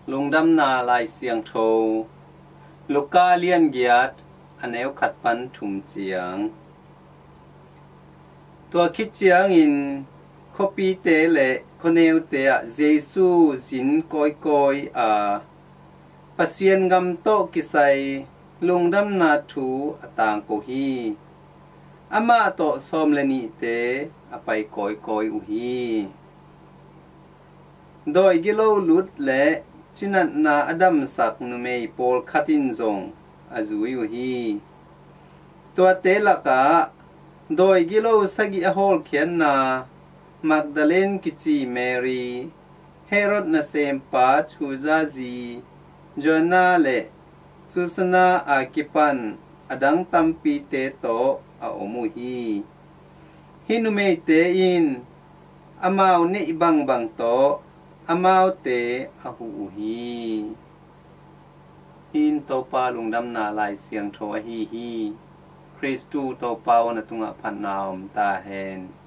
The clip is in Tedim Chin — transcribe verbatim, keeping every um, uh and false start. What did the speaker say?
Lungdamna Lai Siangtho, Luka lian giat, a neu khat pan thum ciang. Tua khit ciangin khuapite le khuaneute ah Jesu zin kawikawi a, Pasian gam tawh kisai lungdamna thu a tangko hi. Amah tawh sawm le nihte a pai kawikawi uh hi. Dawi gilo lut le cinatna a damsak numei pawlkhat in zong a zui uh hi. Tuate lakah dawi gilo sagih a hawlkhiatna Magdalene kici Mary, Herod nasempa Chuza zi Joanna le Susanna a kipan a dang tampite tawh a om uh hi. Hih numeite in amau neih bangbang tawh amaute a huh uh hi. Hih in Topa lungdamna Lai Siangtho ahi hi. Khristu Topa aw, na tungah phatna om ta hen.